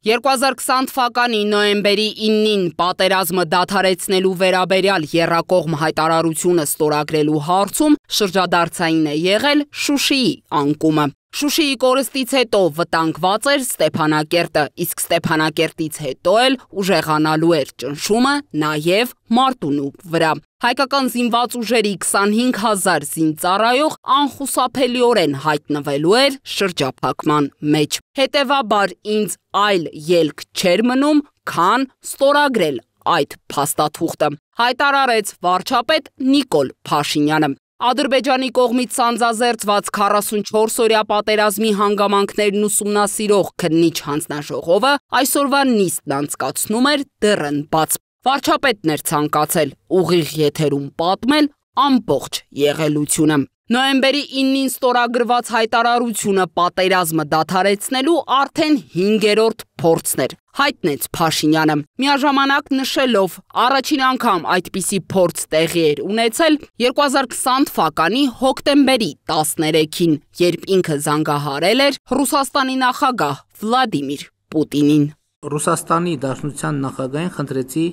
2020 թվականի նոյեմբերի 9-ին պատերազմը դադարեցնելու վերաբերյալ եռակողմ հայտարարությունը ստորագրելու հարցում շրջադարձային է եղել Շուշիի անկումը։ Շուշիի կորստից հետո վտանգված էր Ստեփանակերտը, իսկ Ստեփանակերտից հետո էլ ուժեղանալու էր ճնշումը նաև Մարտունու վրա։ Հայկական զինված ուժերի 25,000 զինծառայող անխուսափելիորեն հայտնվելու էր շրջափակման մեջ։ Հետևաբար ինձ այլ ելք չէր մնում, քան ստորագրել այդ փաստաթուղթը, հայտարարեց վարչապետ Նիկոլ Փաշինյանը։ Ադրբեջանի կողմից սանձազերծված 44-օրյա պատերազմի հանգամանքներն ուսումնասիրող քննիչ հանձնաժողովը այսօրվա նիստն անցկացնում էր դեռն բաց։ Վարչապետն էր ցանկացել ուղիղ եթերում պատմել ամբողջ եղելությունը։ Նոյեմբերի 9-ին ստորագրված հայտարարությունը պատերազմը դադարեցնելու արդեն 5-րդ փորձն էր, հայտնեց Փաշինյանը, միաժամանակ նշելով առաջին անգամ այդպիսի փորձ տեղի էր ունեցել 2020 թվականի հոկտեմբերի 13-ին, երբ ինքը զանգահարել էր Ռուսաստանի նախագահ Վլադիմիր Պուտինին։ Ռուսաստանի Դաշնության նախագահին խնդրեցի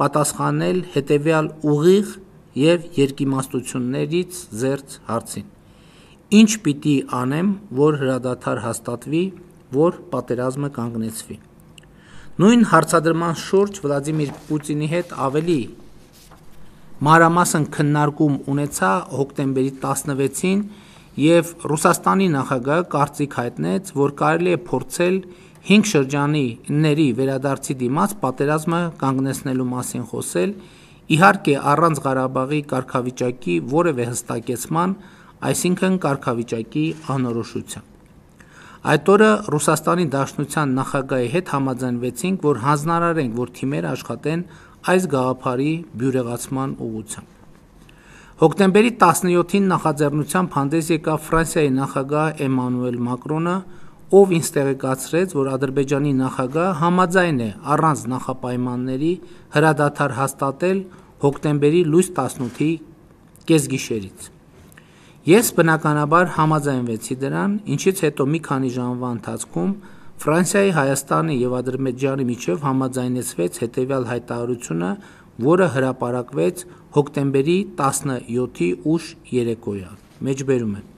պատասխանել հետևյալ ուղիղ և երկիմաստություններից զերծ հարցին. Ինչ պիտի անեմ, որ հրադադար հաստատվի, որ պատերազմը կանգնեցվի։ Նույն հարցադրման շուրջ Վլադիմիր Պուտինի հետ ավելի մանրամասն քննարկում ունեցա հոկտեմբերի 16-ին և Ռուսաստանի նախագահը կարծիք հայտնեց, որ կարելի է փորձել 5 շրջանների վերադարձի դիմաց պատերազմը կանգնեցնելու մասին խոսել, իհարկե առանց Ղարաբաղի կարգավիճակի որևէ հստակեցման, այսինքն կարգավիճակի անորոշության։ Այդ օրը Ռուսաստանի Դաշնության նախագահի հետ համաձայնվեցինք, որ հանձնարարենք, որ թիմերը աշխատեն այս գաղափարի բյուրեղացման ուղղությամբ։ Հոկտեմբերի 17-ին նախաձեռնությամբ հանդես եկավ Ֆրանսիայի նախագահ Էմանուել Մակրոնը, ով ինձ տեղեկացրեց, որ Ադրբեջանի նախագահը համաձայն է առանց նախապայմանների հրադադար հաստատել հոկտեմբերի լույս 18-ի կեսգիշերից։ Ես բնականաբար համաձայնվեցի դրան, ինչից հետո մի քանի ժամվա ընթացքում Ֆրանսիայի, Հայաստանի և Ադրբեջանի միջև համաձայնեցվեց հետևյալ հայտարարությունը, որը հրապարակվեց հոկտեմբերի 17-ի ուշ երեկոյան։ Մեջբերում եմ.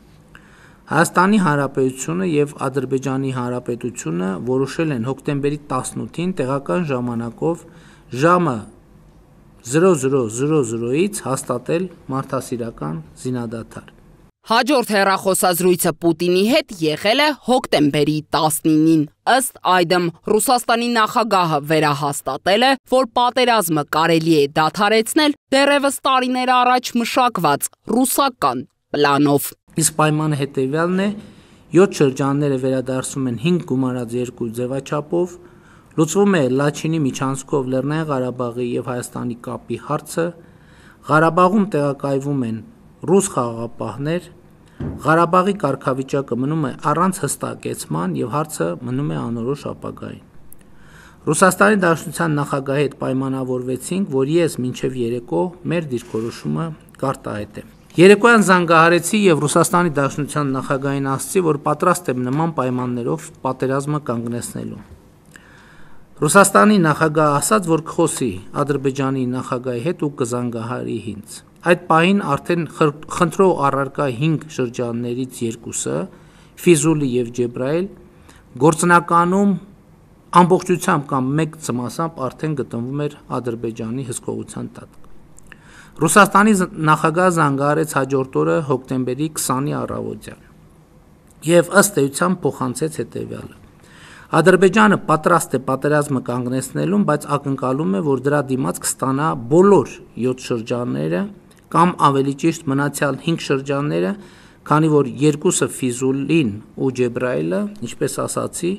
Հայաստանի Հանրապետությունը և Ադրբեջանի Հանրապետությունը որոշել են հոկտեմբերի 18-ին տեղական ժամանակով ժամը 00:00-ից հաստատել մարդասիրական զինադադար։ Հաջորդ հեռախոսազրույցը Պուտինի հետ եղել է հոկտեմբերի 19-ին։ Ըստ այդմ Ռուսաստանի նախագահը վերահաստատել է, որ պատերազմը կարելի է դադարեցնել դեռևս տարիներ առաջ մշակված ռուսական պլանով։ Իսկ պայմանը հետևյալն է. 7 շրջանները վերադարձում են 5 գումարած 2 ձևաչափով, լուծվում է Լաչինի միջանցքով Լեռնային Ղարաբաղի և Հայաստանի կապի հարցը, Ղարաբաղում տեղակայվում են ռուս խաղաղապահներ, Ղարաբաղի կարգավիճակը մնում է առանց հստակեցման և հարցը մնում է անորոշ ապագային։ Ռուսաստանի Դաշնության նախագահի հետ պայմանավորվեցինք, որ ես մինչև երեկո մեր դիրքորոշումը կարտահայտեմ։ Երեկոյան զանգահարեցի և Ռուսաստանի Դաշնության նախագահին ասացի, որ պատրաստ եմ նման պայմաններով պատերազմը կանգնեցնելու։ Ռուսաստանի նախագահը ասաց, որ կխոսի Ադրբեջանի նախագահի հետ ու կզանգահարի ինձ։ Այդ պահին արդեն խնդրող առարկա 5 շրջաններից 2-ը, Ֆիզուլի և Ջեբրայել, գործնականում ամբողջությամբ կամ մեկ ծմասամբ արդեն գտնվում էր Ադրբեջանի հսկողության տակ։ Ռուսաստանի նախագահը զանգահարեց հաջորդ օրը հոկտեմբերի 20-ի առավոտյան և ըստ էության փոխանցեց հետևյալը. Ադրբեջանը պատրաստ է պատերազմը կանգնեցնելուն, բայց ակնկալում է, որ դրա դիմաց կստանա բոլոր 7 շրջանները կամ ավելի ճիշտ մնացյալ 5 շրջանները, քանի որ 2-ը Ֆիզուլին ու Ջեբրայելը, ինչպես ասացի,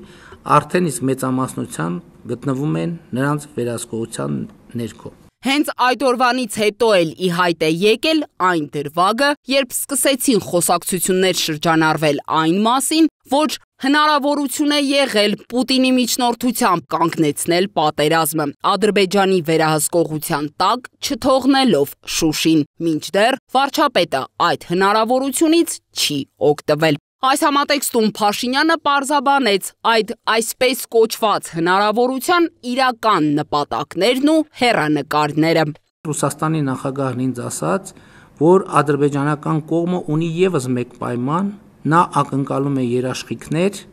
արդեն իսկ մեծամասնության գտնվում են նրանց վերահսկողության ներքո։ Հենց այդ օրվանից հետո էլ ի հայտ է եկել այն դրվագը, երբ սկսեցին խոսակցություններ շրջանառվել այն մասին, որ հնարավորություն է եղել Պուտինի միջնորդությամբ կանգնեցնել պատերազմը, Ադրբեջանի վերահսկողության տակ չթողնելով Շուշին, մինչդեռ վարչապետը այդ հնարավորությունից չի օգտվել։ Այս համատեքստում Փաշինյանը պարզաբանեց այդ այսպես կոչված հնարավորության իրական նպատակներն ու հեռանկարները։ Ռուսաստանի նախագահն ինձ ասաց, որ ադրբեջանական կողմը ունի ևս մեկ պայման, նա ակնկալում է երաշխիքներ,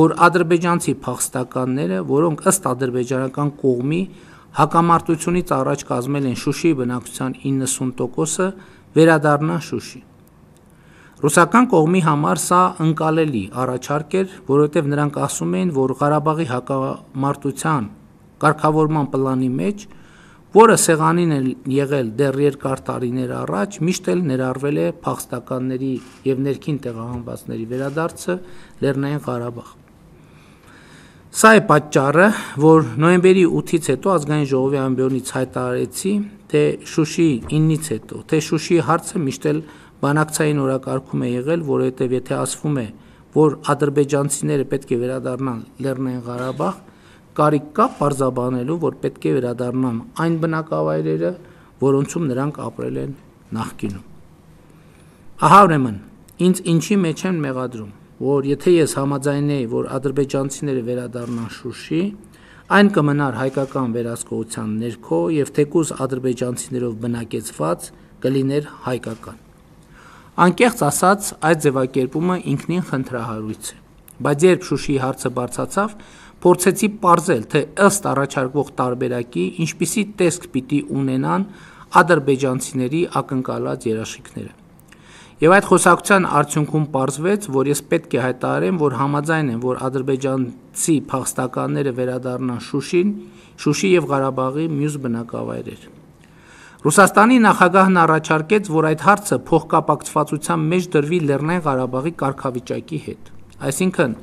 որ ադրբեջանցի փախստականները, որոնք ըստ ադրբեջանական կողմի հակամարտությունից առաջ կազմել են Շուշիի բնակչության 90%-ը, վերադառնան Շուշի։ Ռուսական կողմի համար սա ընկալելի առաջարկ էր, որովհետև նրանք ասում էին, որ Ղարաբաղի հակամարտության կարգավորման պլանի մեջ, որը սեղանին է եղել դեռ երկար տարիներ առաջ, միշտ էլ ներառվել է փախստականների եւ ներքին տեղահանվածների վերադարձը Լեռնային Ղարաբաղ։ Սա է պատճառը, որ նոյեմբերի 8-ից հետո ազգային ժողովի ամբիոնից հայտարարեցի, թե Շուշիի 9-ից հետո, թե Շուշիի հարցը միշտ էլ բանակցային օրակարգում է եղել, որովհետև եթե ասվում է, որ ադրբեջանցիները պետք է վերադառնան Լեռնային Ղարաբաղ, կարիք կա պարզաբանելու, որ պետք է վերադառնան այն բնակավայրերը, որոնցում նրանք ապրել են նախկինում։ Ահա ուրեմն, ինձ ինչի մեջ են մեղադրում, որ եթե ես համաձայնեի, որ ադրբեջանցիները վերադառնան Շուշի, այն կմնար հայկական վերահսկողության ներքո եւ թեկուզ ադրբեջանցիներով բնակեցված կլիներ հայկական։ Անկեղծ ասած, այդ ձևակերպումը ինքնին խնդրահարույց է, բայց երբ Շուշիի հարցը բարձրացավ, փորձեցի պարզել, թե ըստ առաջարկվող տարբերակի ինչպիսի տեսք պիտի ունենան ադրբեջանցիների ակնկալած երաշխիքները։ Եվ այդ խոսակցության արդյունքում պարզվեց, որ ես պետք է հայտարարեմ, որ համաձայն եմ, որ ադրբեջանցի փախստականները վերադառնան Շուշի եւ Ղարաբաղի մյուս բնակավայրեր։ Ռուսաստանի նախագահն առաջարկեց, որ այդ հարցը փոխկապակցվածության մեջ դրվի Լեռնային Ղարաբաղի կարգավիճակի հետ։ Այսինքն,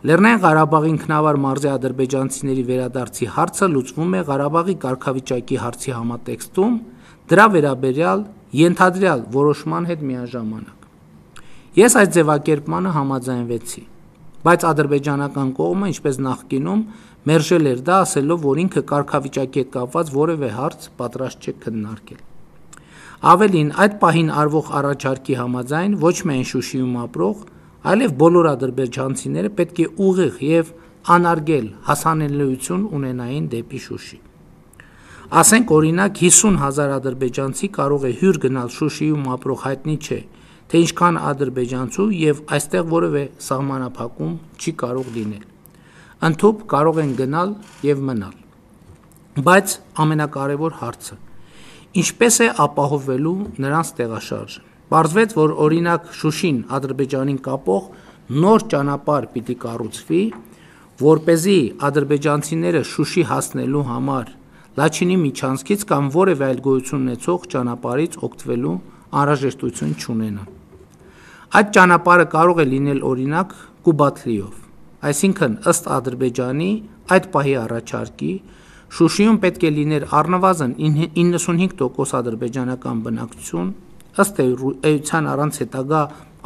Լեռնային Ղարաբաղի ինքնավար մարզի ադրբեջանցիների վերադարձի հարցը լուծվում է Ղարաբաղի կարգավիճակի հարցի համատեքստում, դրա վերաբերյալ ենթադրյալ որոշման հետ միաժամանակ։ Ես այդ ձևակերպմանը համաձայնվեցի, բայց ադրբեջանական կողմը, ինչպես նախկինում, մերժել էր դա, ասելով, որ ինքը կարգավիճակի հետ կապված որևէ հարց պատրաստ չէ քննարկել։ Ավելին, այդ պահին արվող առաջարկի համաձայն ոչ միայն Շուշիում ապրող, այլև բոլոր ադրբեջանցիները պետք է ուղիղ եւ անարգել հասանելիություն ունենային դեպի Շուշի։ Ասենք օրինակ 50,000 ադրբեջանցի կարող է հյուր գնալ Շուշիում ապրող հայտնի չէ, թե ինչքան ադրբեջանցու եւ այստեղ որևէ սահմանափակում չի կարող լինել։ Ընդհուպ կարող են գնալ եւ մնալ։ Բայց ամենակարևոր հարցը՝ ինչպես է ապահովվելու նրանց տեղաշարժը։ Պարզվեց, որ օրինակ Շուշին Ադրբեջանին կապող նոր ճանապարհ պիտի կառուցվի, որպեսզի ադրբեջանցիները Շուշի հասնելու համար Լաչինի միջանցքից կամ որևէ այլ գոյություն ունեցող ճանապարհից օգտվելու անհրաժեշտություն չունենան։ Այդ ճանապարհը կարող է լինել օրինակ Կուբատլիով, այսինքն ըստ Ադրբեջանի այդ պահի առաջարկի Շուշիում պետք է լիներ առնվազն 95% ադրբեջանական բնակչություն, ըստ էության առանց հետագա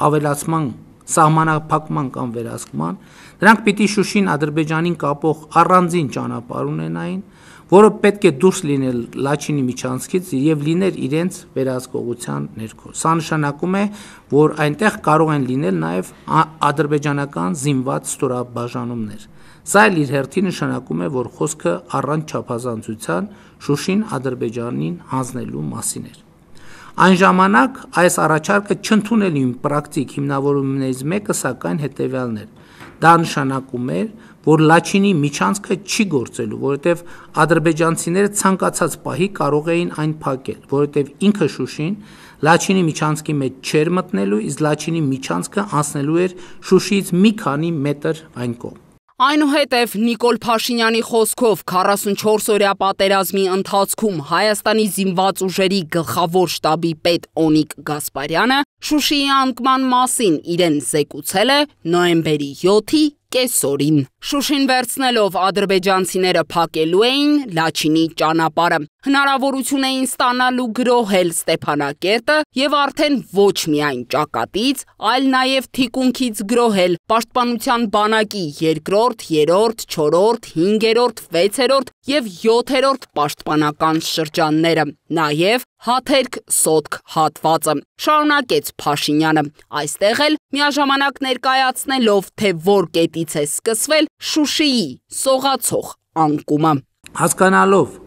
ավելացման, սահմանափակման կամ վերահսկման, նրանք պիտի Շուշին Ադրբեջանին կապող առանձին ճանապարհ ունենային, որը պետք է դուրս լինել Լաչինի միջանցքից եւ լիներ իրենց վերահսկողության ներքո։ Սա նշանակում է, որ այնտեղ կարող են լինել նաեւ ադրբեջանական զինված ստորաբաժանումներ։ Սա էլ իր հերթին նշանակում է, որ խոսքը առանց չափազանցության Շուշին Ադրբեջանին հանձնելու մասին էր։ Այն ժամանակ այս առաջարկը չընդունելի պրակտիկ հիմնավորումներից մեկը սակայն հետևյալն էր։ Դա նշանակում էր, որ Լաչինի միջանցքը չի գործելու, որովհետև ադրբեջանցիները ցանկացած պահի կարող էին այն փակել, որովհետև ինքը Շուշին Լաչինի միջանցքի մեջ չէր մտնելու, իսկ Լաչինի միջանցքը անցնելու էր Շուշիից մի քանի մետր այն կողմ։ Այնուհետև Նիկոլ Փաշինյանի խոսքով 44-օրյա պատերազմի ընթացքում Հայաստանի զինված ուժերի գլխավոր շտաբի պետ Օնիկ Գասպարյանը Շուշիի անկման մասին իրեն զեկուցել է նոյեմբերի 7-ի կեսօրին։ Շուշին վերցնելով ադրբեջանցիները փակելու էին Լաչինի ճանապարհը, հնարավորություն էին ստանալու գրոհել Ստեփանակերտը եւ արդեն ոչ միայն ճակատից, այլ նաեւ թիկունքից գրոհել Պաշտպանության բանակի 2-րդ, 3-րդ, 4-րդ, 5-րդ, 6-րդ եւ 7-րդ պաշտպանական շրջանները, նաեւ հաթերք սոտք հատվածը, շարունակեց Փաշինյանը, այստեղ էլ միաժամանակ ներկայացնելով, թե որ կետից է սկսվել Շուշիի սողացող անկումը։ Հասկանալով,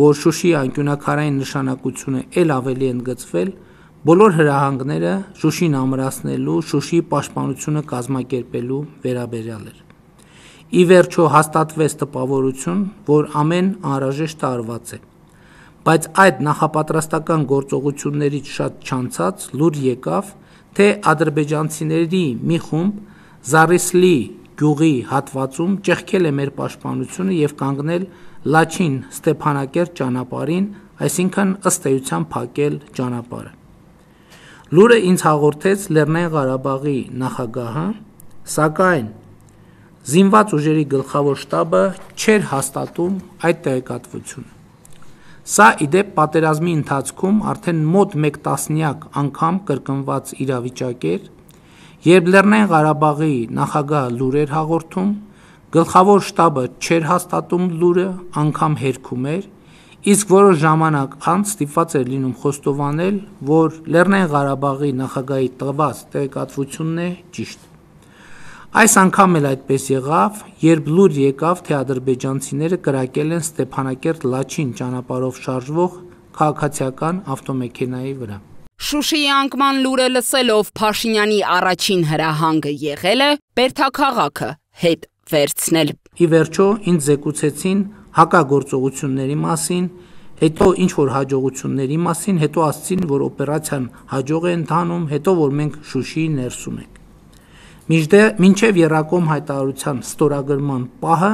որ Շուշիի անկյունաքարային նշանակությունը ել ավելի ընդգծվել, բոլոր հրահանգները Շուշին ամրացնելու, Շուշիի պաշտպանությունը կազմակերպելու վերաբերյալ էր։ Ի վերջո հաստատվեց տպավորություն, որ ամեն անհրաժեշտ արված է, բայց այդ նախապատրաստական գործողություններից շատ չանցած լուր եկավ, թե ադրբեջանցիների մի խումբ Զարիսլի գյուղի հատվածում ճեղքել է մեր պաշտպանությունը և կանգնել Լաչին Ստեփանակերտ ճանապարհին, այսինքն ըստ էության փակել ճանապարհը։ Լուրը ինձ հաղորդեց Լեռնային Ղարաբաղի նախագահը, սակայն զինված ուժերի գլխավոր շտաբը չէր հաստատում այդ տեղեկատվությունը։ Սա իդեպ պատերազմի ընթացքում արդեն մոտ մեկ տասնյակ անգամ կրկնված իրավիճակ էր, երբ Լեռնային Ղարաբաղի նախագահը լուր էր հաղորդում, գլխավոր շտաբը չէր հաստատում լուրը, անգամ հերքում էր, իսկ որոշ ժամանակ անց ստիպված էր լինում խոստովանել, որ Լեռնային Ղարաբաղի նախագահի տված տեղեկատվությունն է ճիշտ։ Այս անգամ էլ այդպես եղավ, երբ լուր եկավ, թե ադրբեջանցիները կրակել են Ստեփանակերտ Լաչին ճանապարհով շարժվող քաղաքացիական ավտոմեքենայի վրա։ Շուշիի անկման լուրը լսելով Փաշինյանի առաջին հրահանգը եղել է Բերդաքաղաքը հետ վերցնել։ Ի վերջո ինձ զեկուցեցին հակագործողությունների մասին, հետո ինչ-որ հաջողությունների մասին, հետո ասացին, որ օպերացիան հաջող է ընթանում, հետո որ մենք Շուշիի ներսում ենք։ Մինչև Եռակոմ հայտարարության ստորագրման պահը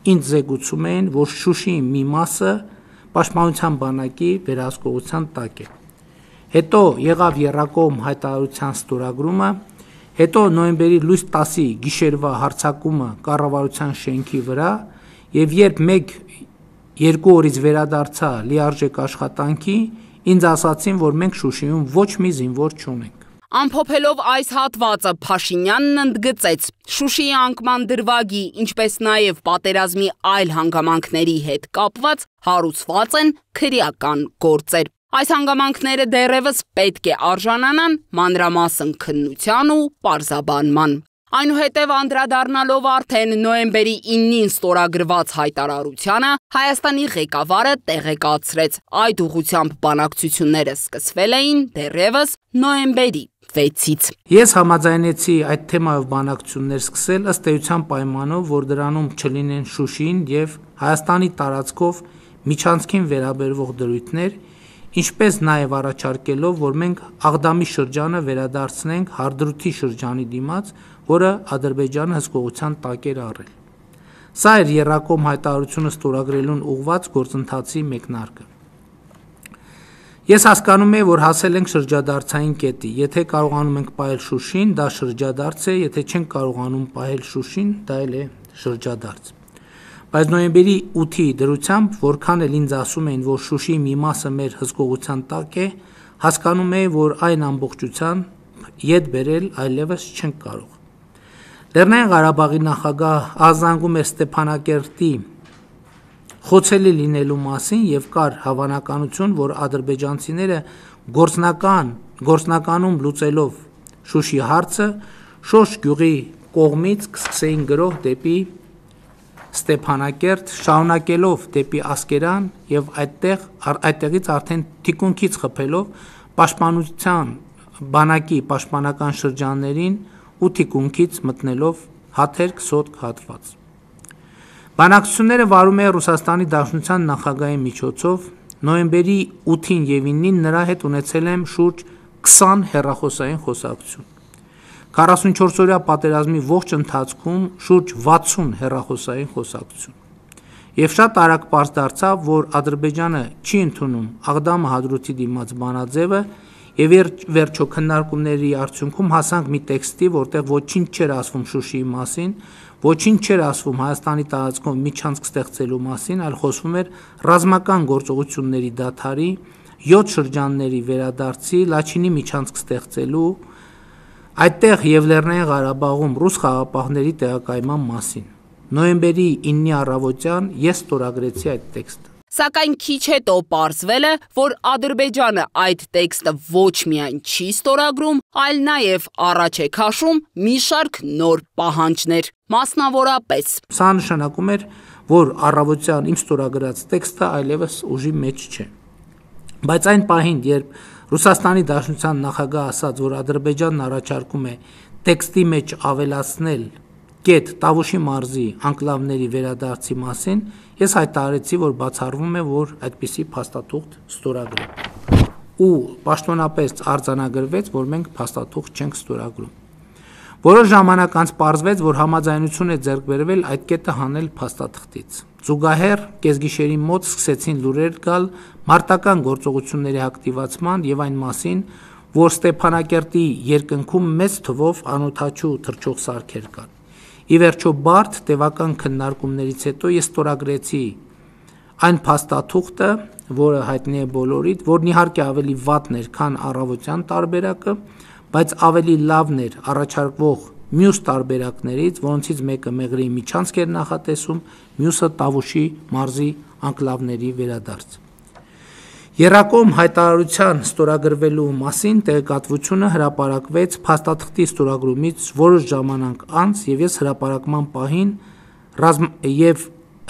ինձ զեկուցում էին, որ Շուշիի մի մասը պաշտպանության բանակի վերահսկողության տակ է։ Հետո եղավ Եռակոմ հայտարարության ստորագրումը, հետո նոյեմբերի լույս 10-ի գիշերվա հարձակումը կառավարության շենքի վրա, եւ երբ 1-2 օրից վերադարձա լիարժեք աշխատանքի, ինձ ասացին, որ մենք Շուշիում ոչ մի զինվոր չունենք։ Ամփոփելով այս հատվածը Փաշինյանն ընդգծեց Շուշիի անկման դրվագի, ինչպես նաև պատերազմի այլ հանգամանքների հետ կապված հարուցված են քրեական գործեր։ Այս հանգամանքները դեռևս պետք է արժանանան մանրամասն քննության ու պարզաբանման։ Այնուհետև անդրադառնալով արդեն նոյեմբերի 9-ին ստորագրված հայտարարությանը, Հայաստանի ղեկավարը տեղեկացրեց, այդ ուղղությամբ բանակցությունները սկսվել էին դեռևս նոյեմբերի 6-ից։ Ես համաձայնեցի այդ թեմայով բանակցություններ սկսել ըստ էության պայմանով, որ դրանում չլինեն Շուշին եւ Հայաստանի տարածքով միջանցքին վերաբերվող դրույթներ, ինչպես նաև առաջարկելով, որ մենք Աղդամի շրջանը վերադարձնենք Հարդրութի շրջանի դիմաց, որը Ադրբեջանը հսկողության տակ էր առել։ Սա էր Եռակոմ հայտարարությունը ստորագրելուն ուղղված գործընթացի մեկնարկը։ Ես հասկանում եմ, որ հասել ենք շրջադարձային կետի, եթե կարողանում ենք պահել Շուշին, դա շրջադարձ է, եթե չենք կարողանում պահել Շուշին, դա էլ է շրջադարձ։ Բայց նոյեմբերի 8-ի դրությամբ, որքան էլ ինձ ասում էին, որ Շուշիի մի մասը մեր հսկողության տակ է, հասկանում եմ, որ այն ամբողջության ետ բերել այլևս չենք կարող։ Լեռնային Ղարաբաղի նախագահ ազանգում էր Ստեփանակերտի խոցելի լինելու մասին եւ կար հավանականություն, որ ադրբեջանցիները գործնականում լուծելով Շուշի հարցը, Շոշ գյուղի կողմից կսկսեին գրոհ դեպի Ստեփանակերտ, շարունակելով դեպի Ասկերան եւ այդտեղից արդեն թիկունքից խփելով պաշտպանության բանակի պաշտպանական շրջաններին ու թիկունքից մտնելով հաթերք սոտք հատված։ Բանակցությունները վարում է Ռուսաստանի Դաշնության նախագահի միջոցով, նոյեմբերի 8-ին եւ 9-ին նրա հետ ունեցել եմ շուրջ 20 հեռախոսային խոսակցություն։ 44-օրյա պատերազմի ողջ ընթացքում շուրջ 60 հեռախոսային խոսակցություն։ Եվ շատ արագ պարզ դարձավ, որ Ադրբեջանը չի ընդունում Աղդամը Հադրութի դիմաց բանաձևը եւ վերջո քննարկումների արդյունքում հասանք մի տեքստի, որտեղ ոչինչ չէր ասվում Շուշիի մասին, ոչինչ չէր ասվում Հայաստանի տարածքով միջանցք ստեղծելու մասին, այլ խոսվում էր ռազմական գործողությունների դադարի, 7 շրջանների վերադարձի, Լաչինի միջանցք ստեղծելու, այդտեղ եւ Լեռնային Ղարաբաղում ռուս խաղապահների տեղակայման մասին։ Նոյեմբերի 9-ի առավոտյան ես ստորագրեցի այդ տեքստը։ Սակայն քիչ հետո պարզվել է, որ Ադրբեջանը այդ տեքստը ոչ միայն չի ստորագրում, այլ նաև առաջ է քաշում մի շարք նոր պահանջներ, մասնավորապես. Սա նշանակում էր, որ առավոտյան իմ ստորագրած տեքստը այլևս ուժի մեջ չէ։ Բայց այն պահին, երբ Ռուսաստանի Դաշնության նախագահը ասաց, որ Ադրբեջանն առաջարկում է տեքստի մեջ ավելացնել կետ Տավուշի մարզի անկլավների վերադարձի մասին, ես հայտարարեցի, որ բացառվում է, որ այդպիսի փաստաթուղթ ստորագրեմ։ Ու պաշտոնապես արձանագրվեց, որ մենք փաստաթուղթ չենք ստորագրում։ Որոշ ժամանակ անց պարզվեց, որ համաձայնություն է ձեռք բերվել այդ կետը հանել փաստաթղթից։ Զուգահեռ կեսգիշերի մոտ սկսեցին լուրեր գալ մարտական գործողությունների ակտիվացման եւ այն մասին, որ Ստեփանակերտի երկնքում մեծ թվով անօդաչու թռչող սարքեր կան։ Ի վերջո բարդ տևական քննարկումներից հետո ես ստորագրեցի այն փաստաթուղթը, որը հայտնի է բոլորիդ, որն իհարկե ավելի վատն էր, քան առավոտյան տարբերակը, բայց ավելի լավն էր առաջարկվող մյուս տարբերակներից, որոնցից մեկը Մեղրիի միջանցք էր նախատեսում, մյուսը Տավուշի մարզի անկլավների վերադարձ։ Եռակողմ հայտարարության ստորագրվելու մասին տեղեկատվությունը հրապարակվեց փաստաթղթի ստորագրումից որոշ ժամանակ անց, եւ ես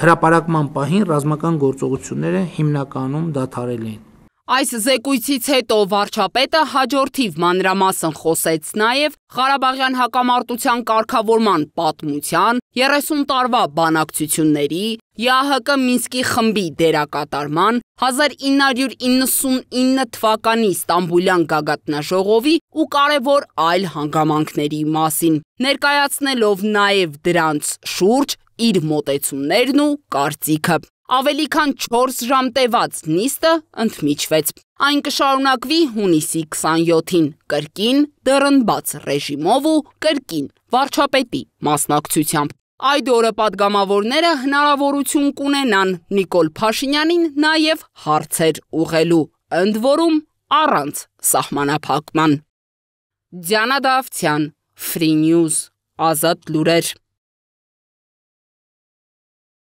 հրապարակման պահին ռազմական գործողությունները հիմնականում դադարել էին։ Այս զեկույցից հետո վարչապետը հաջորդիվ մանրամասն խոսեց նաև Ղարաբաղյան հակամարտության կարգավորման պատմության, 30 տարվա բանակցությունների, ԵԱՀԿ Մինսկի խմբի դերակատարման, 1999 թվականի Ստամբուլյան գագաթնաժողովի ու կարևոր այլ հանգամանքների մասին, ներկայացնելով նաև դրանց շուրջ իր մոտեցումներն ու կարծիքը։ Ավելի քան 4 ժամ տևած նիստը ընդմիջվեց։ Այն կշարունակվի հունիսի 27-ին կրկին դռնբաց ռեժիմով ու կրկին վարչապետի մասնակցությամբ։ Այդ օրը պատգամավորները հնարավորություն կունենան Նիկոլ Փաշինյանին նաև հարցեր ուղղելու, ընդ որում առանց սահմանափակման։ Դիանա Դավթյան, Free News, Ազատ լուրեր։